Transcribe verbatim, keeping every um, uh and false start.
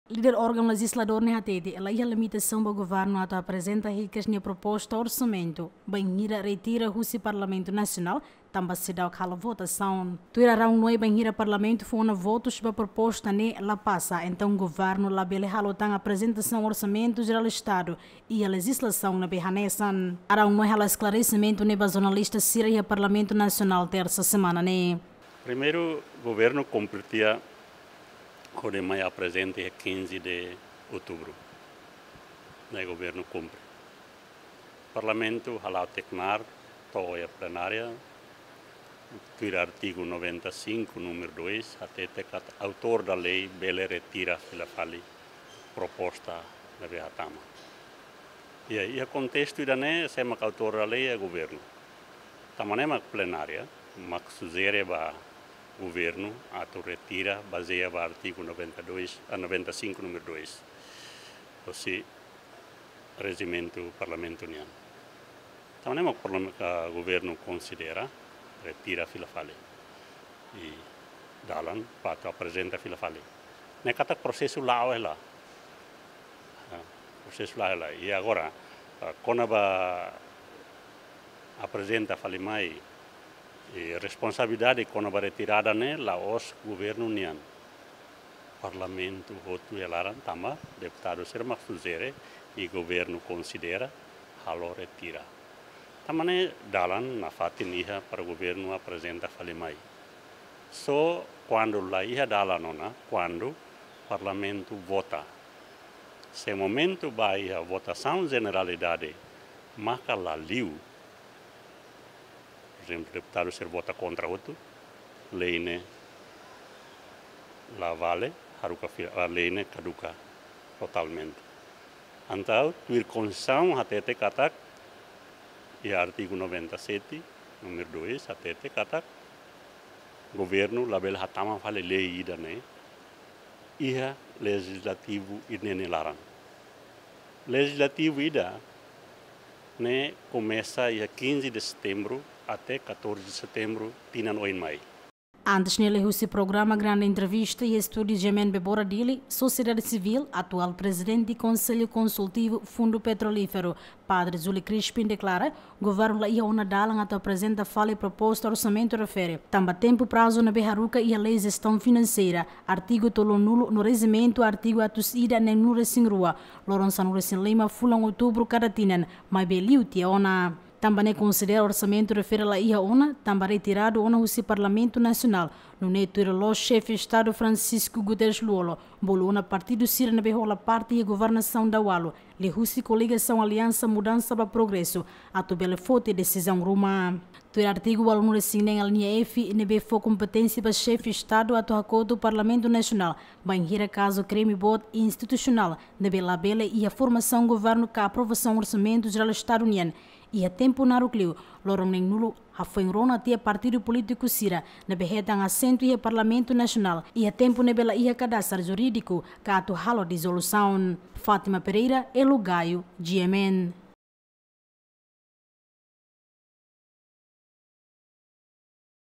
Líder órgaun lejizladór ne'e hatete, la iha limitasaun ba governu atu aprezenta hikas nia proposta orsamentu bainhira retira husi Parlamentu Nasionál, tanba seidauk halo votasaun. Tuir Arão Noé, bainhira Parlamentu fó ona votus ba proposta ne'e la pasa, entaun governu labele halo tan aprezentasaun Orsamentu Jerál Estadu iha lejizlasaun ne'ebé hanesan. Arão Noé halo esklaresimentu ne'e ba jornalista sira iha Parlamentu Nasionál tersa semana ne'e. Primeiru, governu kumpre tiha hodi mai aprezenta iha quinze de outubro. Ne'e governu kumpre. Parlamentu hala'o tek nar, to'o iha plenária, tuir artigu noventa e cinco, número dois, hatete katak autor da lei bele retira fila fali proposta ne'ebé hatama. Iha, iha kontestu ida-ne'e, sé mak autor da lei iha governu. Tanba ne'e mak plenária mak sujere ba governu atu retira, bazeia ba artigu noventa e dois, ah, noventa e cinco, número dois. Hosi rejimentu parlamentu nian. Tanba ne'e mak parlam-, ah, governu konsidera retira fila fali. I dalan ba atu aprezenta fila fali. Ne'e katak prosesu la'o hela. Ah, prosesu la'o hela. I agora, ah, kona-ba aprezenta fali mai, i responsabilidade kona-ba retirada ne'e la'ós governu nian. Parlamentu hotu iha laran tanba deputadu sira mak sujere i governu konsidera halo retira. Tanba ne'e dalan nafatin iha para governu aprezenta fali mai. Só kuandu la iha dalan ona, kuandu parlamentu vota. Se momentu ba iha votasaun jeneralidade maka la liu, por ezemplu, deputadu sira vota kontra hotu, lei ne'e la vale, haruka fi-, ah, lei ne'e kaduka totalmente. Entaun, tuir Konstituisaun hatete katak, iha artigu noventa e sete, número dois, hatete katak, governu labele hatama fali lei ida-ne'e iha lejizlativu ida-ne'e nia laran. Lejizlativu ida-ne'e komesa iha quinze de setembro até catorze de setembro tinan oin mai. Antes ne'e, liuhusi programa Grande Entrevista iha estúdiu GMN Bebora Dili, sosiedade sivíl, atuál prezidente Konsellu Konsultivu Fundu Petrolíferu, Padre Júlio Crispim, deklara governu la iha ona dalan atu aprezenta fali proposta orsamentu refere, tanba tempu prazu ne'ebé haruka iha Lei Jestaun Finanseira, artigu tolunulu no rejimentu, artigu atus ida neenulu-resin-rua, loron sanulu-resin-lima fulan outubru kada tinan, maibé liu tiha ona. Tanba ne'e konsidera orsamentu refere la iha ona, tanba retiradu ona husi Parlamentu Nasionál, nune'e tuir loloos Xefe Estadu Francisco Guterres Lú-Olo bolu ona partidu sira ne'ebé hola parte iha governasaun daualu, liuhusi koligasaun Aliansa Mudansa ba Progresu, atu bele foti desizaun ruma. Tuir artigu ualunulu-resin-neen alínea F, ne'ebé fó kompeténsia ba Xefe Estadu atu hakotu Parlamentu Nasionál bainhira kazu krime boot institusionál ne'ebé labele iha formasaun governu ka aprovasaun Orsamentu Jerál Estadu nian, iha tempu naruk liu, loron neenulu, hafoin rona tiha partidu polítiku sira ne'ebé hetan asentu iha Parlamentu Nasionál, iha tempu ne'ebé la iha kadastru jurídiku ka atu halo dizolusaun. Fátima Pereira, Elo Gayo, GMN.